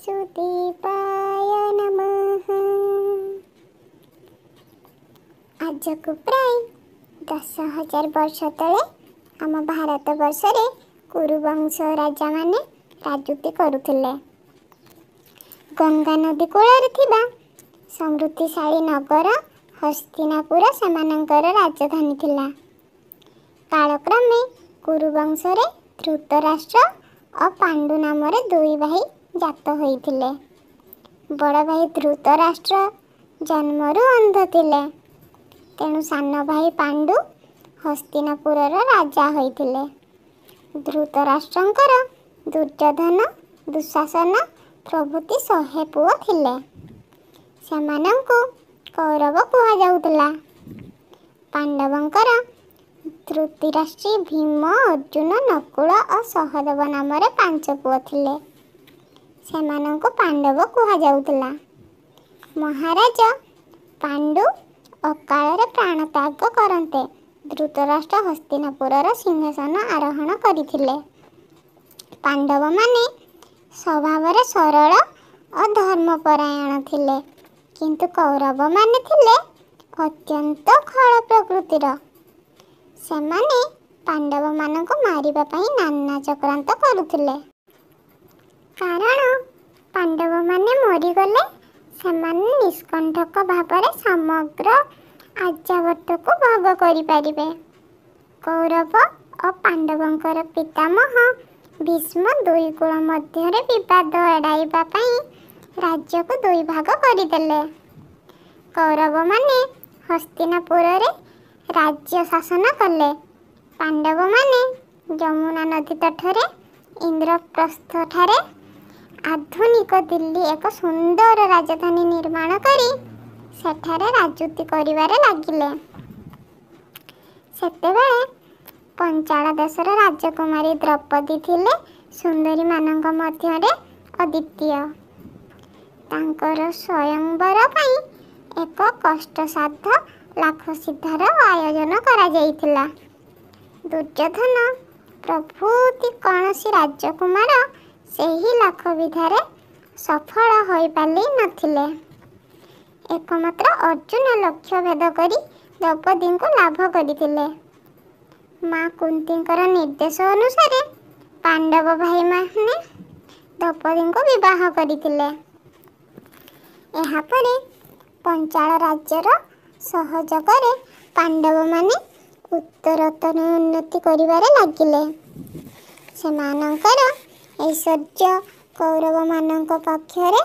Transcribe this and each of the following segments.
ବାସୁଦେବାୟ ନମଃ। ଆଜକୁ ପ୍ରାୟ 10,000 ବର୍ଷ ତଳେ ଆମ ଭାରତ ବର୍ଷରେ କୁରୁବଂଶ ରାଜାମାନେ ରାଜୁତି କରୁଥିଲେ। ଗଙ୍ଗା ନଦୀ କୂଳରେ ଥିବା ସମୃଦ୍ଧିଶାଳୀ ନଗର ହସ୍ତିନାପୁର ସେମାନଙ୍କର ରାଜଧାନୀ ଥିଲା। କାଳକ୍ରମେ କୁରୁବଂଶରେ ଧୃତରାଷ୍ଟ୍ର ଓ ପାଣ୍ଡୁ ନାମରେ ଦୁଇ ଭାଇ ଜାତ ହୋଇଥିଲେ। ବଡ଼ ଭାଇ ଧୃତରାଷ୍ଟ୍ର ଜନ୍ମରୁ ଅନ୍ଧ ଥିଲେ, ତେଣୁ ସାନ ଭାଇ ପାଣ୍ଡୁ ହସ୍ତିନାପୁରର ରାଜା ହୋଇଥିଲେ। ଧୃତରାଷ୍ଟ୍ରଙ୍କର ଦୁର୍ଯ୍ୟୋଧନ, ଦୁଃଶାସନ ପ୍ରଭୃତି 100 ପୁଅ ଥିଲେ। ସେମାନଙ୍କୁ କୌରବ କୁହାଯାଉଥିଲା। ପାଣ୍ଡବଙ୍କର ଧୃତରାଷ୍ଟ୍ରୀ, ଭୀମ, ଅର୍ଜୁନ, ନକୁଳ ଓ ସହଦେବ ନାମରେ 5 ପୁଅ ଥିଲେ। ସେମାନଙ୍କୁ ପାଣ୍ଡବ କୁହାଯାଉଥିଲା। ମହାରାଜ ପାଣ୍ଡୁ ଅକାଳରେ ପ୍ରାଣତ୍ୟାଗ କରନ୍ତେ ଧୃତରାଷ୍ଟ୍ର ହସ୍ତିନାପୁରର ସିଂହାସନ ଆରୋହଣ କରିଥିଲେ। ପାଣ୍ଡବମାନେ ସ୍ୱଭାବରେ ସରଳ ଓ ଧର୍ମପରାୟଣ ଥିଲେ, କିନ୍ତୁ କୌରବମାନେ ଥିଲେ ଅତ୍ୟନ୍ତ ଖଳ ପ୍ରକୃତିର। ସେମାନେ ପାଣ୍ଡବମାନଙ୍କୁ ମାରିବା ପାଇଁ ନାନା ଚକ୍ରାନ୍ତ କରୁଥିଲେ, କାରଣ ପାଣ୍ଡବମାନେ ମରିଗଲେ ସେମାନେ ନିଷ୍କଣ୍ଟକ ଭାବରେ ସମଗ୍ର ଆର୍ଯ୍ୟାବର୍ତ୍ତକୁ ଭୋଗ କରିପାରିବେ। କୌରବ ଓ ପାଣ୍ଡବଙ୍କର ପିତାମହ ଭୀଷ୍ମ ଦୁଇ କୁଳ ମଧ୍ୟରେ ବିବାଦ ଏଡ଼ାଇବା ପାଇଁ ରାଜ୍ୟକୁ ଦୁଇ ଭାଗ କରିଦେଲେ। କୌରବମାନେ ହସ୍ତିନାପୁରରେ ରାଜ୍ୟ ଶାସନ କଲେ। ପାଣ୍ଡବମାନେ ଯମୁନା ନଦୀ ତଟରେ ଇନ୍ଦ୍ରପ୍ରସ୍ଥଠାରେ ଆଧୁନିକ ଦିଲ୍ଲୀ ଏକ ସୁନ୍ଦର ରାଜଧାନୀ ନିର୍ମାଣ କରି ସେଠାରେ ରାଜୁତି କରିବାରେ ଲାଗିଲେ। ସେତେବେଳେ ପଞ୍ଚାଳ ଦେଶର ରାଜକୁମାରୀ ଦ୍ରୌପଦୀ ଥିଲେ ସୁନ୍ଦରୀମାନଙ୍କ ମଧ୍ୟରେ ଅଦ୍ୱିତୀୟ। ତାଙ୍କର ସ୍ୱୟଂବର ପାଇଁ ଏକ କଷ୍ଟସାଧ୍ୟ ଲାଖସିଦ୍ଧାର ଆୟୋଜନ କରାଯାଇଥିଲା। ଦୁର୍ଯ୍ୟୋଧନ ପ୍ରଭୃତି କୌଣସି ରାଜକୁମାର ସେହି ଲାଖବିଧାରେ ସଫଳ ହୋଇପାରି ନଥିଲେ। ଏକମାତ୍ର ଅର୍ଜୁନ ଲକ୍ଷ୍ୟ ଭେଦ କରି ଦ୍ରୌପଦୀଙ୍କୁ ଲାଭ କରିଥିଲେ। ମା କୁନ୍ତୀଙ୍କର ନିର୍ଦ୍ଦେଶ ଅନୁସାରେ ପାଣ୍ଡବ ଭାଇମାନେ ଦ୍ରୌପଦୀଙ୍କୁ ବିବାହ କରିଥିଲେ। ଏହାପରେ ପଞ୍ଚାଳ ରାଜ୍ୟର ସହଯୋଗରେ ପାଣ୍ଡବମାନେ ଉତ୍ତରୋତ୍ତର ଉନ୍ନତି କରିବାରେ ଲାଗିଲେ। ସେମାନଙ୍କର ଐଶ୍ୱର୍ଯ୍ୟ କୌରବମାନଙ୍କ ପକ୍ଷରେ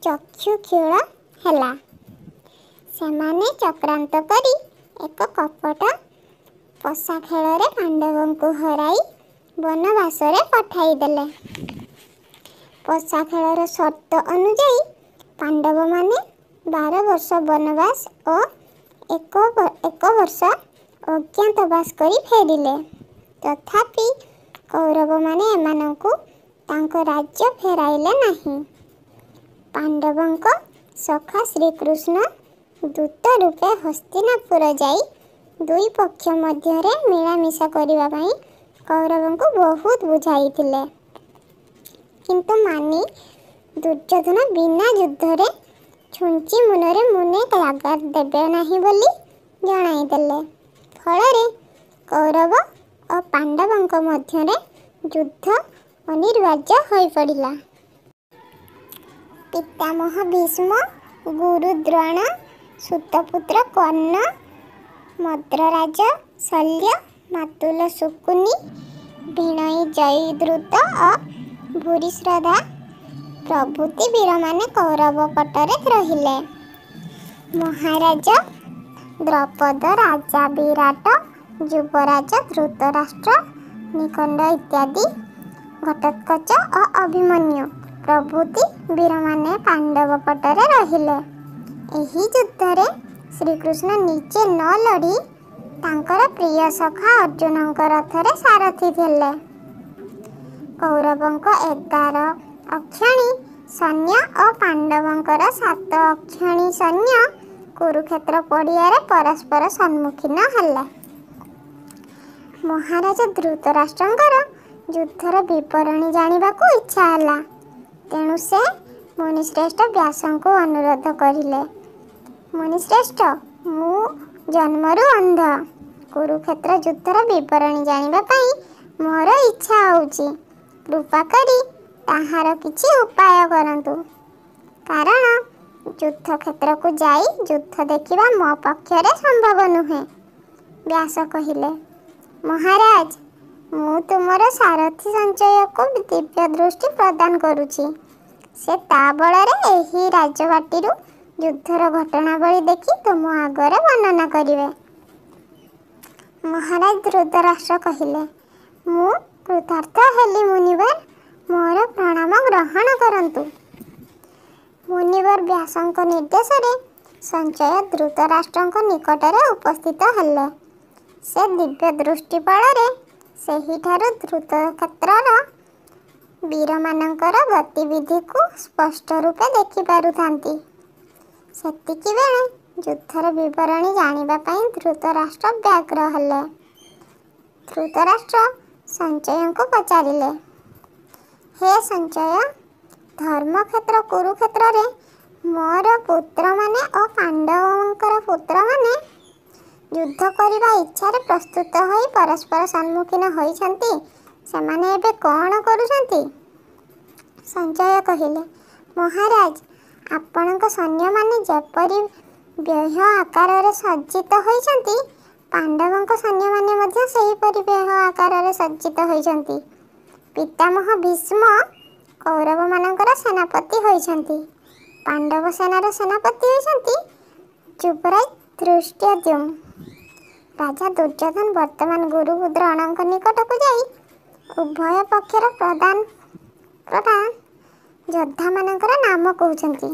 ଚକ୍ଷୁକ୍ଷୁଳ ହେଲା। ସେମାନେ ଚକ୍ରାନ୍ତ କରି ଏକ କପଟ ପଶା ଖେଳରେ ପାଣ୍ଡବଙ୍କୁ ହରାଇ ବନବାସରେ ପଠାଇଦେଲେ। ପଶା ଖେଳର ସର୍ତ୍ତ ଅନୁଯାୟୀ ପାଣ୍ଡବମାନେ 12 ବର୍ଷ ବନବାସ ଓ 1 ବର୍ଷ ଅଜ୍ଞାତବାସ କରି ଫେରିଲେ। ତଥାପି କୌରବମାନେ ଏମାନଙ୍କୁ ତାଙ୍କ ରାଜ୍ୟ ଫେରାଇଲେ ନାହିଁ। ପାଣ୍ଡବଙ୍କ ସଖା ଶ୍ରୀକୃଷ୍ଣ ଦୂତ ରୂପେ ହସ୍ତିନାପୁର ଯାଇ ଦୁଇ ପକ୍ଷ ମଧ୍ୟରେ ମିଳାମିଶା କରିବା ପାଇଁ କୌରବଙ୍କୁ ବହୁତ ବୁଝାଇଥିଲେ, କିନ୍ତୁ ମାନି ଦୁର୍ଯ୍ୟୋଧନ ବିନା ଯୁଦ୍ଧରେ ଛୁଞ୍ଚି ମୁନରେ ମୁନେ ଜାଗା ଦେବେ ନାହିଁ ବୋଲି ଜଣାଇଦେଲେ। ଫଳରେ କୌରବ ଓ ପାଣ୍ଡବଙ୍କ ମଧ୍ୟରେ ଯୁଦ୍ଧ ଅନିବାର୍ଯ୍ୟ ହୋଇପଡ଼ିଲା। ପିତାମହ ଭୀଷ୍ମ, ଗୁରୁ ଦ୍ରୋଣ, ସୁତପୁତ୍ର କର୍ଣ୍ଣ, ମଦ୍ରରାଜ ଶଲ୍ୟ, ମାତୁଲ ଶକୁନି, ଭିଣୋଇ ଜୟଦ୍ରଥ ଓ ଭୂରିଶ୍ରବା ପ୍ରଭୃତି ବୀରମାନେ କୌରବ ପଟରେ ରହିଲେ। ମହାରାଜ ଦ୍ରୁପଦ, ରାଜା ବିରାଟ, ଯୁବରାଜ ଧୃତରାଷ୍ଟ୍ର, ନିଖଣ୍ଡ ଇତ୍ୟାଦି, ଘଟୋତ୍କଚ ଓ ଅଭିମନ୍ୟୁ ପ୍ରଭୃତି ବୀରମାନେ ପାଣ୍ଡବ ପଟରେ ରହିଲେ। ଏହି ଯୁଦ୍ଧରେ ଶ୍ରୀକୃଷ୍ଣ ନିଜେ ନ ଲଢ଼ି ତାଙ୍କର ପ୍ରିୟ ସଖା ଅର୍ଜୁନଙ୍କ ରଥରେ ସାରଥୀ ଥିଲେ। କୌରବଙ୍କ 11 ଅକ୍ଷୌହିଣୀ ସୈନ୍ୟ ଓ ପାଣ୍ଡବଙ୍କର 7 ଅକ୍ଷୌହିଣୀ ସୈନ୍ୟ କୁରୁକ୍ଷେତ୍ର ପଡ଼ିଆରେ ପରସ୍ପର ସମ୍ମୁଖୀନ ହେଲେ। ମହାରାଜ ଧୃତରାଷ୍ଟ୍ରଙ୍କର ଯୁଦ୍ଧର ବିବରଣୀ ଜାଣିବାକୁ ଇଚ୍ଛା ହେଲା, ତେଣୁ ସେ ମୁନିଶ୍ରେଷ୍ଠ ବ୍ୟାସଙ୍କୁ ଅନୁରୋଧ କରିଲେ, ମୁନିଶ୍ରେଷ୍ଠ, ମୁଁ ଜନ୍ମରୁ ଅନ୍ଧ। କୁରୁକ୍ଷେତ୍ର ଯୁଦ୍ଧର ବିବରଣୀ ଜାଣିବା ପାଇଁ ମୋର ଇଚ୍ଛା ହେଉଛି। କୃପା କରି ତାହାର କିଛି ଉପାୟ କରନ୍ତୁ, କାରଣ ଯୁଦ୍ଧକ୍ଷେତ୍ରକୁ ଯାଇ ଯୁଦ୍ଧ ଦେଖିବା ମୋ ପକ୍ଷରେ ସମ୍ଭବ ନୁହେଁ। ବ୍ୟାସ କହିଲେ, ମହାରାଜ, ମୁଁ ତୁମର ସାରଥୀ ସଞ୍ଚୟକୁ ଦିବ୍ୟ ଦୃଷ୍ଟି ପ୍ରଦାନ କରୁଛି। ସେ ତା ବଳରେ ଏହି ରାଜବାଟୀରୁ ଯୁଦ୍ଧର ଘଟଣାବଳୀ ଦେଖି ତୁମ ଆଗରେ ବର୍ଣ୍ଣନା କରିବେ। ମହାରାଜ ଧୃତରାଷ୍ଟ୍ର କହିଲେ, ମୁଁ କୃତାର୍ଥ ହେଲି ମୁନିବର, ମୋର ପ୍ରଣାମ ଗ୍ରହଣ କରନ୍ତୁ। ମୁନିବର ବ୍ୟାସଙ୍କ ନିର୍ଦ୍ଦେଶରେ ସଞ୍ଚୟ ଧୃତରାଷ୍ଟ୍ରଙ୍କ ନିକଟରେ ଉପସ୍ଥିତ ହେଲେ। ସେ ଦିବ୍ୟ ଦୃଷ୍ଟି ବଳରେ ସେହିଠାରୁ ଧୃତକ୍ଷେତ୍ରର ବୀରମାନଙ୍କର ଗତିବିଧିକୁ ସ୍ପଷ୍ଟ ରୂପେ ଦେଖିପାରୁଥାନ୍ତି। ସେତିକିବେଳେ ଯୁଦ୍ଧର ବିବରଣୀ ଜାଣିବା ପାଇଁ ଧୃତରାଷ୍ଟ୍ର ବ୍ୟଗ୍ର ହେଲେ। ଧୃତରାଷ୍ଟ୍ର ସଞ୍ଚୟଙ୍କୁ ପଚାରିଲେ, ହେ ସଞ୍ଚୟ, ଧର୍ମକ୍ଷେତ୍ର କୁରୁକ୍ଷେତ୍ରରେ ମୋର ପୁତ୍ରମାନେ ଓ ପାଣ୍ଡବଙ୍କର ପୁତ୍ରମାନେ ଯୁଦ୍ଧ କରିବା ଇଚ୍ଛାରେ ପ୍ରସ୍ତୁତ ହୋଇ ପରସ୍ପର ସମ୍ମୁଖୀନ ହୋଇଛନ୍ତି। ସେମାନେ ଏବେ କ'ଣ କରୁଛନ୍ତି? ସଞ୍ଚୟ କହିଲେ, ମହାରାଜ, ଆପଣଙ୍କ ସୈନ୍ୟମାନେ ଯେପରି ବ୍ୟୂହ ଆକାରରେ ସଜ୍ଜିତ ହୋଇଛନ୍ତି, ପାଣ୍ଡବଙ୍କ ସୈନ୍ୟମାନେ ମଧ୍ୟ ସେହିପରି ବ୍ୟୂହ ଆକାରରେ ସଜ୍ଜିତ ହୋଇଛନ୍ତି। ପିତାମହ ଭୀଷ୍ମ କୌରବମାନଙ୍କର ସେନାପତି ହୋଇଛନ୍ତି। ପାଣ୍ଡବ ସେନାର ସେନାପତି ହୋଇଛନ୍ତି ଯୁବରାଜ ଧୃଷ୍ଟଦ୍ୟୁମ୍ନ। ରାଜା ଦୁର୍ଯ୍ୟୋଧନ ବର୍ତ୍ତମାନ ଗୁରୁ ଦ୍ରୋଣଙ୍କ ନିକଟକୁ ଯାଇ ଉଭୟ ପକ୍ଷର ପ୍ରଧାନ ପ୍ରଧାନ ଯୋଦ୍ଧାମାନଙ୍କର ନାମ କହୁଛନ୍ତି।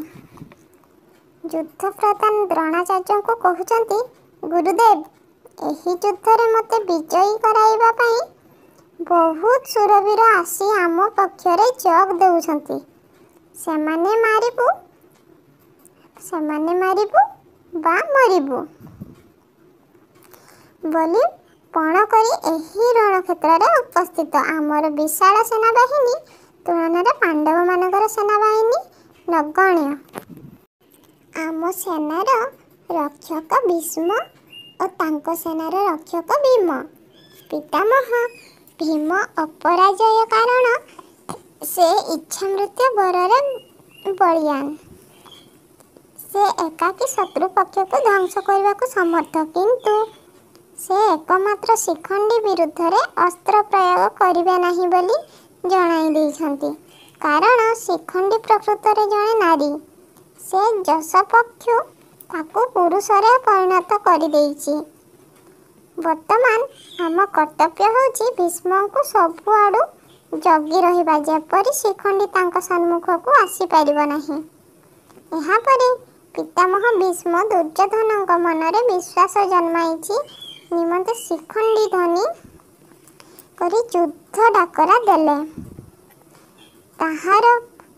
ଯୁଦ୍ଧ ପ୍ରଧାନ ଦ୍ରୋଣାଚାର୍ଯ୍ୟଙ୍କୁ କହୁଛନ୍ତି, ଗୁରୁଦେବ, ଏହି ଯୁଦ୍ଧରେ ମୋତେ ବିଜୟୀ କରାଇବା ପାଇଁ ବହୁତ ଶୂରବୀର ଆସି ଆମ ପକ୍ଷରେ ଯୋଗ ଦେଉଛନ୍ତି। ସେମାନେ ମାରିବୁ ବା ମରିବୁ ବୋଲି ପଣ କରି ଏହି ରଣକ୍ଷେତ୍ରରେ ଉପସ୍ଥିତ। ଆମର ବିଶାଳ ସେନାବାହିନୀ ତୁଳନାରେ ପାଣ୍ଡବମାନଙ୍କର ସେନାବାହିନୀ ନଗଣ୍ୟ। ଆମ ସେନାର ରକ୍ଷକ ଭୀଷ୍ମ ଓ ତାଙ୍କ ସେନାର ରକ୍ଷକ ଭୀମ। ପିତାମହ ଭୀମ ଅପରାଜୟ, କାରଣ ସେ ଇଚ୍ଛାମୃତ୍ୟୁ ବରରେ ବଳୀୟାନ। ସେ ଏକାକୀ ଶତ୍ରୁ ପକ୍ଷକୁ ଧ୍ୱଂସ କରିବାକୁ ସମର୍ଥ, କିନ୍ତୁ ସେ ଏକମାତ୍ର ଶିଖଣ୍ଡୀ ବିରୁଦ୍ଧରେ ଅସ୍ତ୍ର ପ୍ରୟୋଗ କରିବେ ନାହିଁ ବୋଲି ଜଣାଇ ଦେଇଛନ୍ତି, କାରଣ ଶିଖଣ୍ଡୀ ପ୍ରକୃତରେ ଜଣେ ନାରୀ। ସେ ଯଶପକ୍ଷୁ ତାକୁ ପୁରୁଷରେ ପରିଣତ କରିଦେଇଛି। ବର୍ତ୍ତମାନ ଆମ କର୍ତ୍ତବ୍ୟ ହେଉଛି ଭୀଷ୍ମଙ୍କୁ ସବୁଆଡ଼ୁ ଜଗି ରହିବା, ଯେପରି ଶିଖଣ୍ଡୀ ତାଙ୍କ ସମ୍ମୁଖକୁ ଆସିପାରିବ ନାହିଁ। ଏହାପରେ ପିତାମହ ଭୀଷ୍ମ ଦୁର୍ଯ୍ୟୋଧନଙ୍କ ମନରେ ବିଶ୍ୱାସ ଜନ୍ମାଇଛି ନିମନ୍ତେ ଶିଖଣ୍ଡୀ ଧ୍ୱନି କରି ଯୁଦ୍ଧ ଡାକରା ଦେଲେ। ତାହାର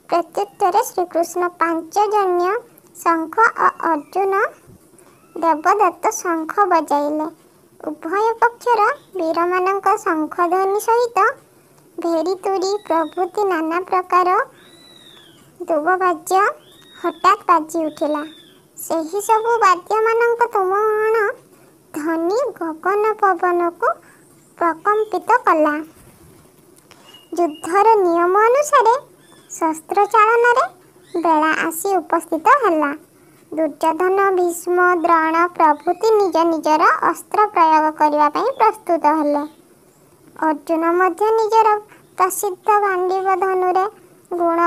ପ୍ରତ୍ୟୁତ୍ତରରେ ଶ୍ରୀକୃଷ୍ଣ ପାଞ୍ଚଜନ୍ୟ ଶଙ୍ଖ ଓ ଅର୍ଜୁନ ଦେବଦତ୍ତ ଶଙ୍ଖ ବଜାଇଲେ। ଉଭୟ ପକ୍ଷର ବୀରମାନଙ୍କ ଶଙ୍ଖଧ୍ୱନି ସହିତ ଭେରୀ, ତୂରୀ ପ୍ରଭୃତି ନାନା ପ୍ରକାର ଦୁବବାଦ୍ୟ ହଠାତ୍ ବାଜି ଉଠିଲା। ସେହି ସବୁ ବାଦ୍ୟମାନଙ୍କ ତୁମୁଳ ଧ୍ୱନି ଗଗନ ପବନକୁ ପ୍ରକମ୍ପିତ କଲା। ଯୁଦ୍ଧର ନିୟମ ଅନୁସାରେ ଶସ୍ତ୍ର ଚାଳନାରେ ବେଳା ଆସି ଉପସ୍ଥିତ ହେଲା। ଦୁର୍ଯ୍ୟୋଧନ, ଭୀଷ୍ମ, ଦ୍ରୋଣ ପ୍ରଭୃତି ନିଜ ନିଜର ଅସ୍ତ୍ର ପ୍ରୟୋଗ କରିବା ପାଇଁ ପ୍ରସ୍ତୁତ ହେଲେ। ଅର୍ଜୁନ ମଧ୍ୟ ନିଜର ପ୍ରସିଦ୍ଧ ଗାଣ୍ଡୀବ ଧନୁରେ ଗୁଣ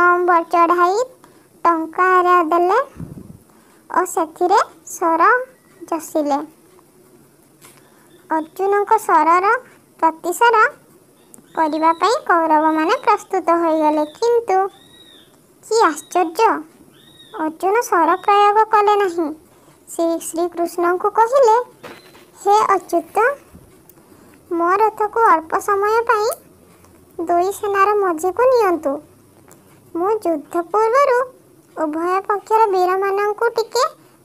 ଚଢ଼ାଇ ଟଙ୍କାର ଦେଲେ ଓ ସେଥିରେ ଶର ଯଶିଲେ। ଅର୍ଜୁନଙ୍କ ଶରର ପ୍ରତିଶର କରିବା ପାଇଁ କୌରବମାନେ ପ୍ରସ୍ତୁତ ହୋଇଗଲେ। କିନ୍ତୁ କି ଆଶ୍ଚର୍ଯ୍ୟ, ଅର୍ଜୁନ ଶର ପ୍ରୟୋଗ କଲେ ନାହିଁ। ସେ ଶ୍ରୀକୃଷ୍ଣଙ୍କୁ କହିଲେ, ହେ ଅଚ୍ୟୁତ, ମୋ ରଥକୁ ଅଳ୍ପ ସମୟ ପାଇଁ ଦୁଇ ସେନାର ମଝିକୁ ନିଅନ୍ତୁ। ମୁଁ ଯୁଦ୍ଧ ପୂର୍ବରୁ ଉଭୟ ପକ୍ଷର ବୀରମାନଙ୍କୁ ଟିକେ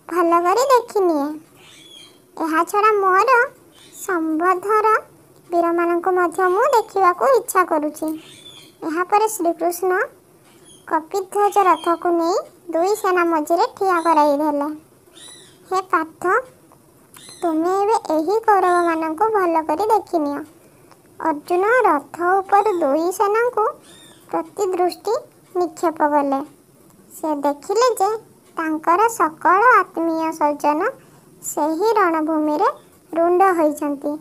ଭଲ କରି ଦେଖିନିଏ। ଏହାଛଡ଼ା ମୋର ସମ୍ବନ୍ଧର ବୀରମାନଙ୍କୁ ମଧ୍ୟ ମୁଁ ଦେଖିବାକୁ ଇଚ୍ଛା କରୁଛି। ଏହାପରେ ଶ୍ରୀକୃଷ୍ଣ କପିଧ୍ୱଜ ରଥକୁ ନେଇ ଦୁଇ ସେନା ମଝିରେ ଠିଆ କରାଇଦେଲେ। ହେ ପାର୍ଥ, ତୁମେ ଏବେ ଏହି କୌରବମାନଙ୍କୁ ଭଲ କରି ଦେଖିନିଅ। ଅର୍ଜୁନ ରଥ ଉପରୁ ଦୁଇ ସେନାଙ୍କୁ ପ୍ରତି ଦୃଷ୍ଟି ନିକ୍ଷେପ କଲେ। ସେ ଦେଖିଲେ ଯେ ତାଙ୍କର ସକଳ ଆତ୍ମୀୟ ସ୍ୱଜନ ସେହି ରଣଭୂମିରେ ରୁଣ୍ଡ ହୋଇଛନ୍ତି।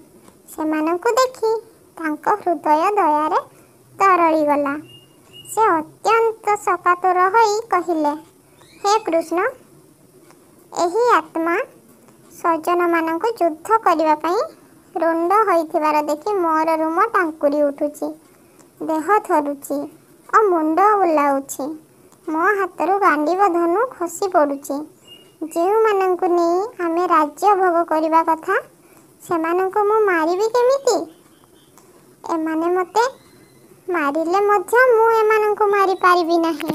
ସେମାନଙ୍କୁ ଦେଖି ତାଙ୍କ ହୃଦୟ ଦୟାରେ ତରଳିଗଲା। ସେ ଅତ୍ୟନ୍ତ ଶୋକାତୁର ହୋଇ କହିଲେ, ହେ କୃଷ୍ଣ, ଏହି ଆତ୍ମା ସ୍ୱଜନମାନଙ୍କୁ ଯୁଦ୍ଧ କରିବା ପାଇଁ ରୁଣ୍ଡ ହୋଇଥିବାର ଦେଖି ମୋର ରୁମ ଟାଙ୍କୁରି ଉଠୁଛି, ଦେହ ଥରୁଛି ଓ ମୁଣ୍ଡ ବୁଲାଉଛି। ମୋ ହାତରୁ ଗାଣ୍ଡିବ ଧନୁ ଖସି ପଡ଼ୁଛି। ଯେଉଁମାନଙ୍କୁ ନେଇ ଆମେ ରାଜ୍ୟ ଭୋଗ କରିବା କଥା, ସେମାନଙ୍କୁ ମୁଁ ମାରିବି କେମିତି? ଏମାନେ ମୋତେ ମାରିଲେ ମଧ୍ୟ ମୁଁ ଏମାନଙ୍କୁ ମାରିପାରିବି ନାହିଁ।